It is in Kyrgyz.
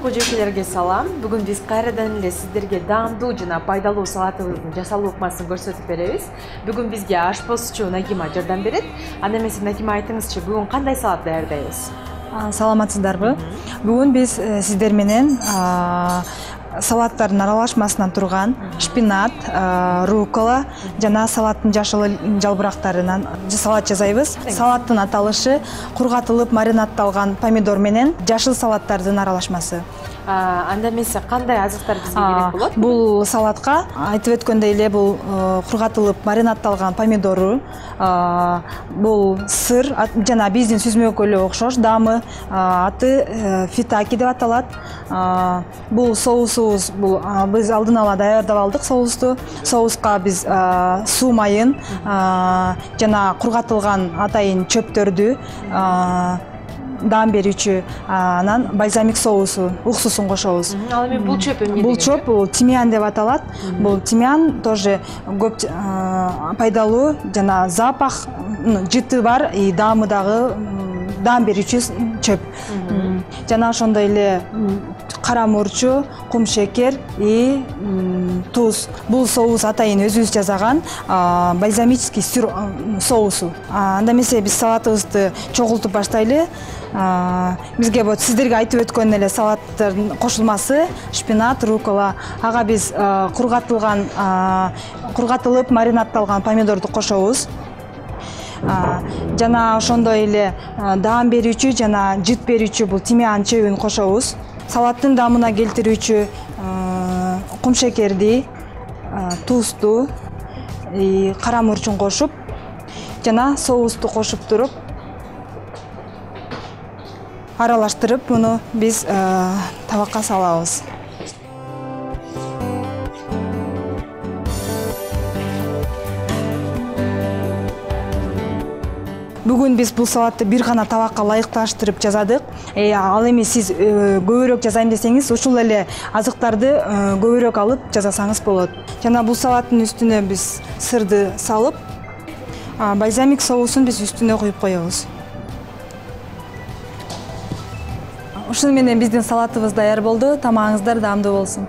кожойкелерге салам. Бүгүн биз кайрадан эле сиздерге даамдуу жана пайдалуу салатыбыздын жасалуу ыкмасын көрсөтүп беребиз. Бүгүн бизге ашпозчу Нагима жардам берет. Анда эмесе Нагима айтыңызчы, бүгүн кандай салат даярдайбыз? Саламатсыздарбы? Бүгүн биз сиздер менен салаттардын аралашмасынан турган шпинат, руккола жана салаттын жашыл жалбырактарынан салат жасайбыз. Салаттын аталышы кургатылып маринадталган помидор менен жашыл салаттардын аралашмасы. Анда эмесе кандай азыктар бизге керек болот? Бул салатка айтып өткөндөй эле бул кургатылып маринадталган помидору, бул сыр жана биздин сүзмөкөлгө окшош даамы, аты фитаки деп аталат. Бул соусубуз, бул биз алдын ала даярдап алдык соусту. Соуска биз суу майын жана кургатылган атайын чөптөрдү, даам берүүчү анан бальзамик соусу, уксусун кошобуз. Ал эми бул чөп эмне? Бул чөп бул тимьян деп аталат. Бул тимьян тоже көп пайдалуу жана запах, жыты бар, и даамы дагы даам берүүчү чөп. Жана ошондой эле кара мурчу, кум шекер и туз. Бул соус атайын өзүбүз жасаган бальзамический соусу. Анда эмесе биз салатыбызды чогултуп баштайлы. Бизге вот сиздерге айтып өткөн эле салаттардын кошулмасы шпинат, руккола. Ага биз кургатылып маринадталган помидорду кошобуз. Жана ошондой эле даам берүүчү жана жыт берүүчү бул тимьян чөбүн кошобуз. Салаттын даамына келтирүүчү кум шекерди, тузду, кара мурчун кошуп жана соусту кошуп туруп аралаштырып муну биз табакка салабыз. Бүгүн биз бул салатты бир гана табакка ылайыкташтырып жасадык. Ал эми сиз көбүрөөк жасайм десеңиз, ушул эле азыктарды көбүрөөк алып жасасаңыз болот. Жана бул салаттын үстүнө биз сырды салып, бальзамик соусун биз үстүнө куюп коебуз. Ушуну менен биздин салатыбыз даяр болду. Тамагыңыздар даамдуу болсун.